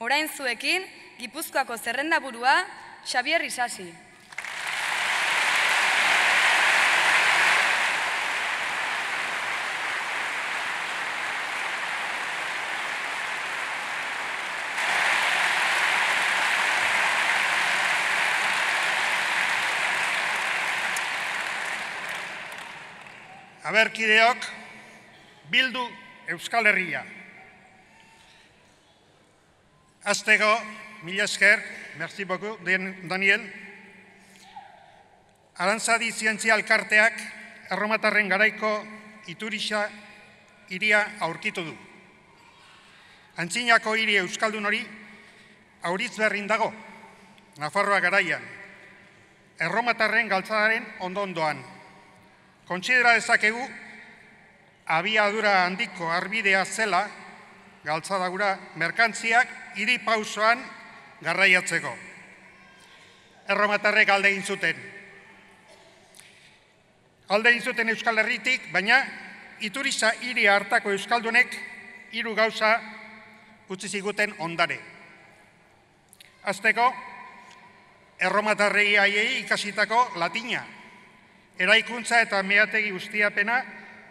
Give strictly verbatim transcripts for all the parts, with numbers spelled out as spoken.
Orain zuekin, Gipuzkoako zerrendaburua, Xabier Isasi. Aberkideok, Bildu Euskal Herria. Aztego, mila esker, merci beaucoup, Daniel. Arantzadi Zientzia Elkarteak erromatarren garaiko Iturisa hiria aurkitu du. Antzinako hiri euskaldun hori Auritz berrin dago, Nafarroa garaian, erromatarren galtzadaren ondo-ondoan. Kontsidera dezakegu, abiadura handiko arbidea zela, galtzadagura merkantziak hiri pausoan garraiatzeko. Erromatarrek alde egin zuten. Alde egin zuten Euskal Herritik, baina Iturisa hiri hartako euskaldunek hiru gauza utzi ziguten ondare. Azteko, erromatarrei haiei ikasitako latina, eraikuntza eta meategi ustiapena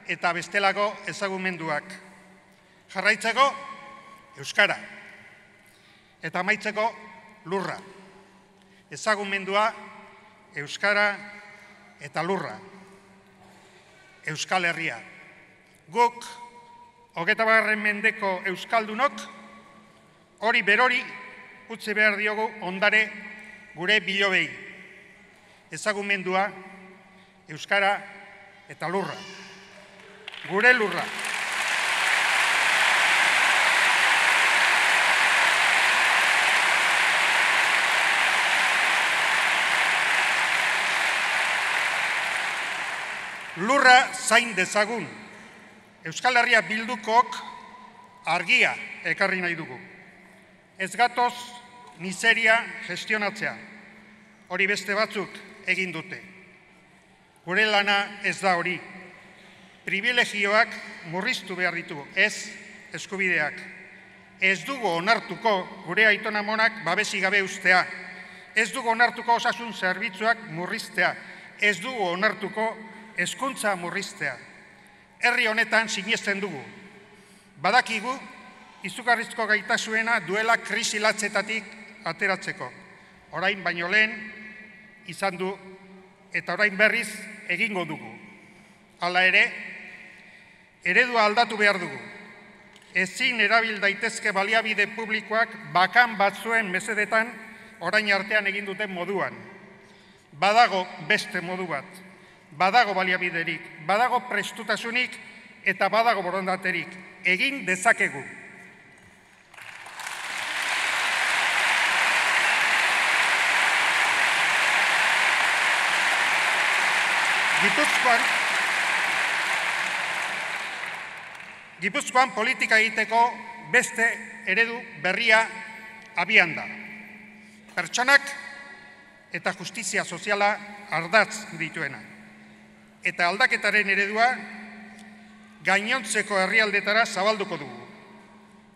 eta bestelako ezagumenduak. Jarraitzeko, euskara. Eta amaitzeko, lurra. Ezagumendua, euskara eta lurra. Euskal Herria. Guk, hogeita bagarren mendeko euskaldunok, hori berori utzi behar diogu ondare gure bilobei. Ezagumendua, euskara eta lurra. Gure lurra. Lurra zain dezagun. Euskal Herria Bildukok argia ekarri nahi dugu. Ez gatoz miseria gestionatzea. Hori beste batzuk egin dute. Gure lana ez da hori. Privilegioak murriztu behar ditugu, ez eskubideak. Ez dugu onartuko gure aitonamonak babesi gabe ustea. Ez dugu onartuko osasun zerbitzuak murriztea. Ez dugu onartuko hezkuntza murriztea. Herri honetan sinesten dugu. Badakigu, izugarrizko gaitasuena duela krisi latzetatik ateratzeko. Orain baino lehen izan du eta orain berriz egingo dugu. Hala ere, eredua aldatu behar dugu. Ezin erabil daitezke baliabide publikoak bakan batzuen mesedetan orain artean egin duten moduan. Badago beste modu bat. Badago baliabiderik, badago prestutasunik eta badago borondaterik. Egin dezakegu. Gipuzkoan, Gipuzkoan politika egiteko beste eredu berria abian da. Pertsonak eta justizia soziala ardatz dituena. Eta aldaketaren eredua gainontzeko herrialdetara zabalduko dugu.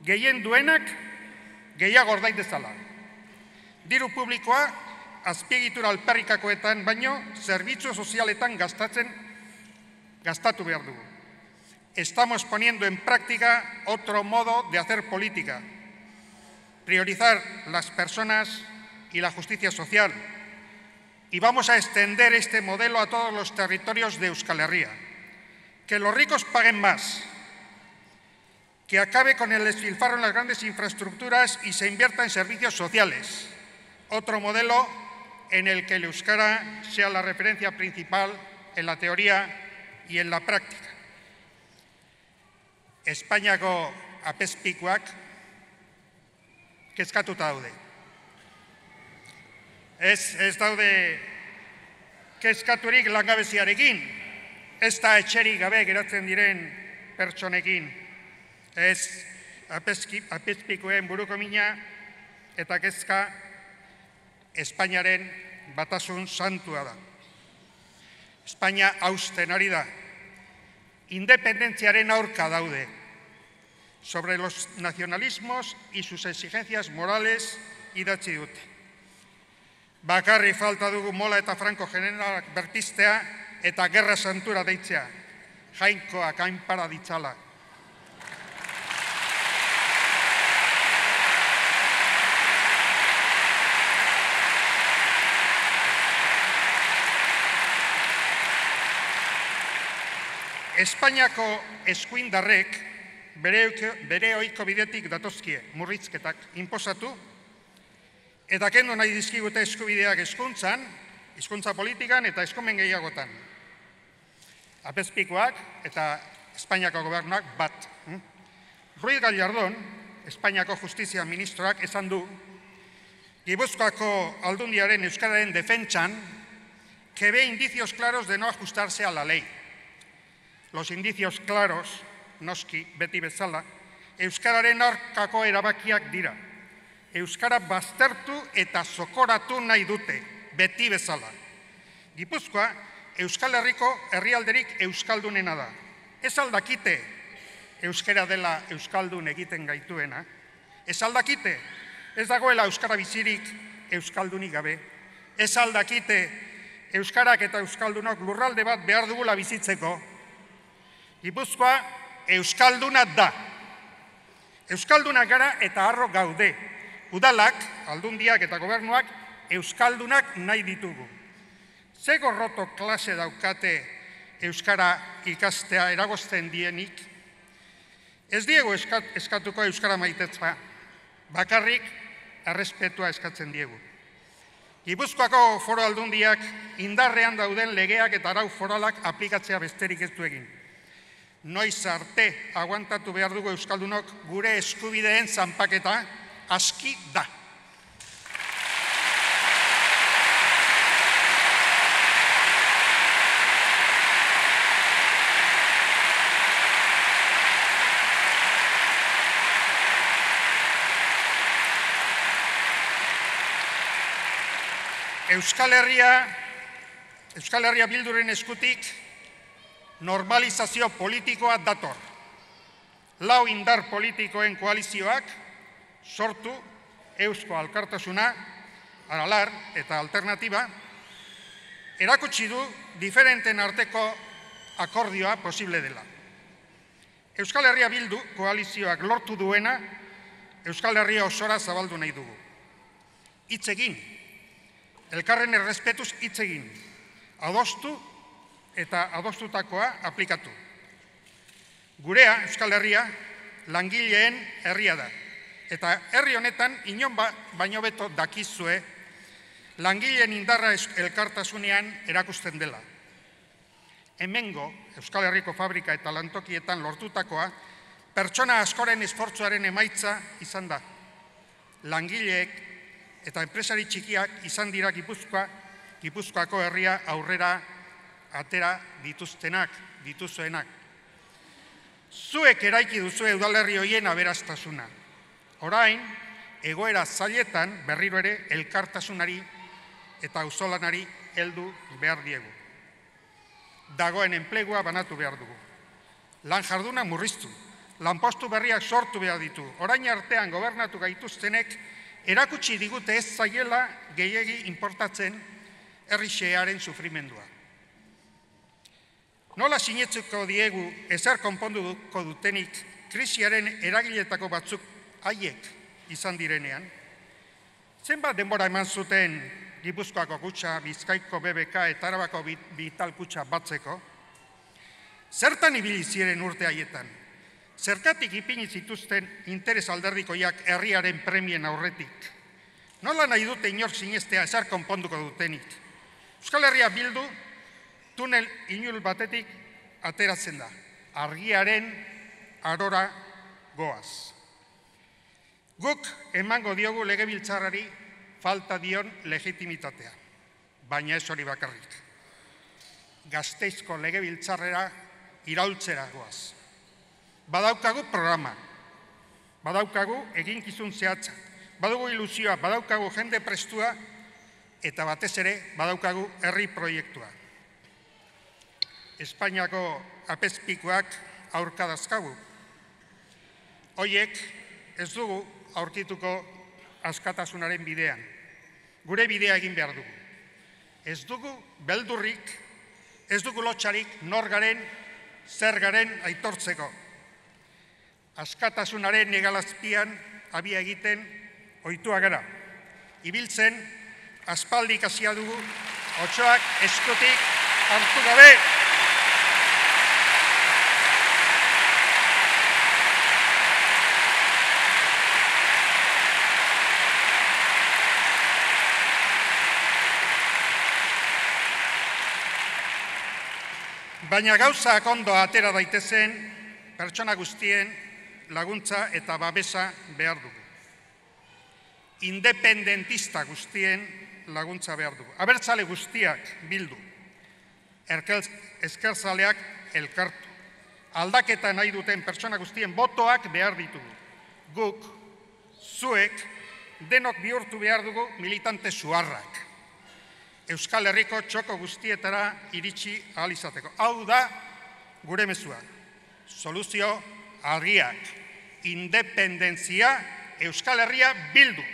Gehien duenak gehiago ordain dezala. Diru publikoa azpiegitura alperrikakoetan baino zerbitzu sozialetan gastatzen gastatu behar dugu. Estamos poniendo en práctica otro modo de hacer política. Priorizar las personas y la justicia social. Y vamos a extender este modelo a todos los territorios de Euskal Herria. Que los ricos paguen más. Que acabe con el despilfarro en las grandes infraestructuras y se invierta en servicios sociales. Otro modelo en el que el euskara sea la referencia principal en la teoría y en la práctica. Espainiako apezpikuak kezkatuta daude. Ez, ez daude kezkaturik langabeziarekin, ez da etxerik gabe geratzen diren pertsonekin. Ez apezpikuen buruko mina eta kezka Espainiaren batasun santua da. Espainia hausten ari da. Independentziaren aurka daude. sobre los nacionalismos y sus exigencias morales idatzi dute. Bakarri falta dugu Mola eta Franco generalak berpiztea eta gerra santura deitzea, jainkoak hainpara ditzala. Espainiako eskuindarrek bere ohiko bidetik datozkie murrizketak inposatu eta kendu nahi dizkigute eskubideak hezkuntzan, hizkuntza politikan eta eskumen gehiagotan. Apezpikuak eta Espainiako gobernuak bat. Ruiz Gallardón, Espainiako justizia ministroak esan du, Gipuzkoako aldundiaren euskararen defentsan, que ve indicios claros de no ajustarse a la ley. Los indicios claros, noski, beti bezala, euskararen aurkako erabakiak dira. Euskara baztertu eta zokoratu nahi dute, beti bezala. Gipuzkoa, Euskal Herriko herrialderik euskaldunena da. Ez aldakite euskara dela euskaldun egiten gaituena. Ez aldakite, ez dagoela euskara bizirik euskaldunik gabe. Ez aldakite euskarak eta euskaldunok lurralde bat behar dugula bizitzeko. Gipuzkoa euskalduna da. Euskaldunak gara eta harro gaude. Udalak, aldundiak eta gobernuak euskaldunak nahi ditugu. Ze gorroto klase daukate euskara ikastea eragozten dienik? Ez diegu eskatuko euskara maitetza, bakarrik errespetua eskatzen diegu. Gipuzkoako foro aldundiak indarrean dauden legeak eta arau foralak aplikatzea besterik ez du egin. Noiz arte aguantatu behar dugu euskaldunok gure eskubideen zanpaketa aski da. Euskal Herria, Euskal Herria Bilduren eskutik normalizazio politikoa dator. Lau indar politikoen koalizioak sortu Eusko Alkartasuna, Aralar eta Alternatiba, erakutsi du diferenten arteko akordioa posible dela. Euskal Herria Bildu koalizioak lortu duena Euskal Herria osora zabaldu nahi dugu. Hitz egin, elkarren errespetuz hitz egin, adostu eta adostutakoa aplikatu. Gurea, Euskal Herria, langileen herria da. Eta herri honetan, inon ba, baino beto dakizue, langileen indarra elkartasunean erakusten dela. Hemengo, Euskal Herriko fabrika eta lantokietan lortutakoa, pertsona askoren esfortzuaren emaitza izan da. Langileek eta enpresari txikiak izan dira Gipuzkoa, Gipuzkoako herria aurrera atera dituztenak, dituzuenak. Zuek eraiki duzue udalerri hoien aberastasuna. Orain, egoera zailetan berriro ere elkartasunari eta auzolanari heldu behar diegu. Dagoen enplegua banatu behar dugu. Lan jarduna murriztu, lanpostu berriak sortu behar ditu. Orain artean gobernatu gaituztenek erakutsi digute ez zaiela gehiegi inportatzen herri xehearen sufrimendua. Nola sinetzuko diegu ezer konponduko dutenik krisiaren eragiletako batzuk haiek izan direnean? Zenbat denbora eman zuten Gipuzkoako kutxa, Bizkaiko B B K eta Arabako Vital kutxa batzeko? Zertan ibili ziren urte haietan? Zergatik ipini zituzten interes alderdikoiak herriaren premien aurretik? Nola nahi dute inork sinestea ezer konponduko dutenik? Euskal Herria Bildu tunel inul batetik ateratzen da. Argiaren arora goaz. Guk emango diogu legebiltzarrari falta dion legitimitatea. Baina ez hori bakarrik. Gasteizko legebiltzarrera iraultzera goaz. Badaukagu programa. Badaukagu eginkizun zehatza. Badugu ilusioa, badaukagu jende prestua eta batez ere badaukagu herri proiektua. Espainiako apezpikuak aurka dazkagu. Hoiek ez dugu aurkituko askatasunaren bidean. Gure bidea egin behar dugu. Ez dugu beldurrik, ez dugu lotxarik nor garen, zer garen aitortzeko. Askatasunaren hegalazpian abia egiten ohitua gara. Ibiltzen, aspaldi ikasia dugu, otsoak eskutik hartu gabe. Baina gauzak ondo atera daitezen, pertsona guztien laguntza eta babesa behar dugu. Independentista guztien laguntza behar dugu. Abertzale guztiak bildu, ezkerzaleak elkartu. Aldaketa nahi duten pertsona guztien botoak behar ditugu. Guk, zuek, denok bihurtu behar dugu militante zuharrak. Euskal Herriko txoko guztietara iritsi ahal izateko. Hau da gure mezua. Soluzio argiak. Independentzia, Euskal Herria bildu.